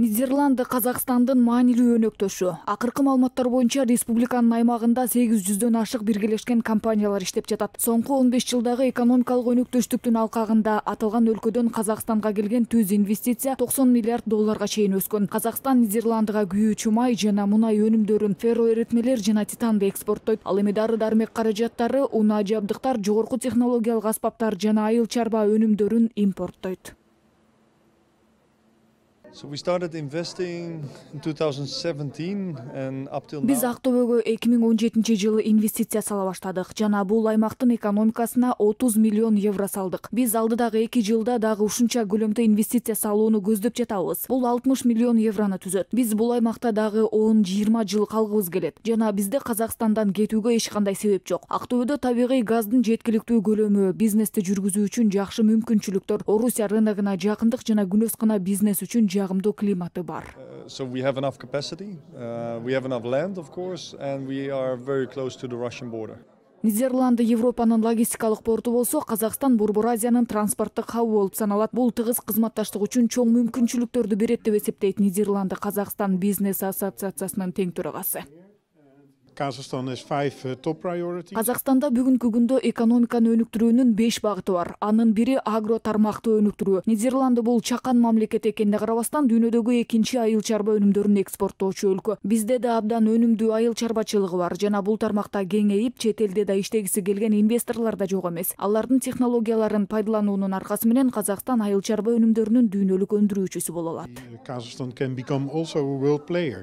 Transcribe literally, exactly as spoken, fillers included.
Нидерланды Казакстандын маанилүү өнөктөшү. Акыркы маалыматтар боюнча республиканын аймагында сегиз жүздөн ашык биргелешкен компаниялар иштеп жатат. Соңку он беш жылдагы экономикалык өнөктөштүктүн алкагында аталган өлкөдөн Казакстанга келген түз инвестиция токсон миллиард долларга чейин өскөн. Казакстан Нидерландыга күйүүчү май жана мунай өнүмдөрүн, ферроэритмелер жана титанды экспорттойт. Ал эми дары-дармек каражаттары, унаа жабдыктар, жогорку технологиялык аспаптар жана айыл чарба өнүмдөрүн импорттойт. So we started investing in two thousand seventeen and up till now. Биз Актөбөгө эки миң он жетинчи жылы инвестиция сала баштадык жана бул аймактын экономикасына отуз миллион евро салдык. Биз алдыдагы эки жылда дагы ушунча көлөмдө инвестиция салууну көздөп жатабыз. Бул алтымыш миллион еврону түзөт. Биз бул аймакта дагы он жыйырма жыл калгыбыз келет. Жана бизде Казакстандан кетүүгө эч кандай себеп жок. Актөбөдө табигый газдын жеткиликтүү көлөмү, бизнести жүргүзүү үчүн жакшы мүмкүнчүлүктөр, Орусия рыногуна жакындык жана күнөс кына бизнес үчүн жагымдуу климаты бар. Uh, so we have enough capacity, uh, we have enough land, of course, and we are very close to the Russian border. Нидерланды Европанын логистикалык порту болсо, Казакстан Борбор Азиянын транспорттук хабы болуп саналат. Бул тыгыз кызматташтык үчүн чоң мүмкүнчүлүктөрдү берет деп эсептейт Нидерланды Казакстан бизнес ассоциациясынын тең төрагасы. Kazakhstan has five uh, top priorities. Казакстанда бүгүнкү күндө экономиканы өнүктүрүүнүн беш багыты бар. Анын бири агро тармактуу өнүктүрүү. Нидерланды бул чакан мамлекет экенине карабастан дүйнөдөгү экинчи айыл чарба өнүмдөрүн экспорттоочу өлкө. Бизде да абдан өнүмдүү айыл чарбачылыгы бар жана бул тармакта кеңейип, чет элде да иштегиси келген инвесторлор да жок эмес. Алардын технологияларын пайдалануунун аркасы менен Казакстан айыл чарба өнүмдөрүнүн дүйнөлүк өндүрүүчүсү боло алат. Kazakhstan can become also a world player.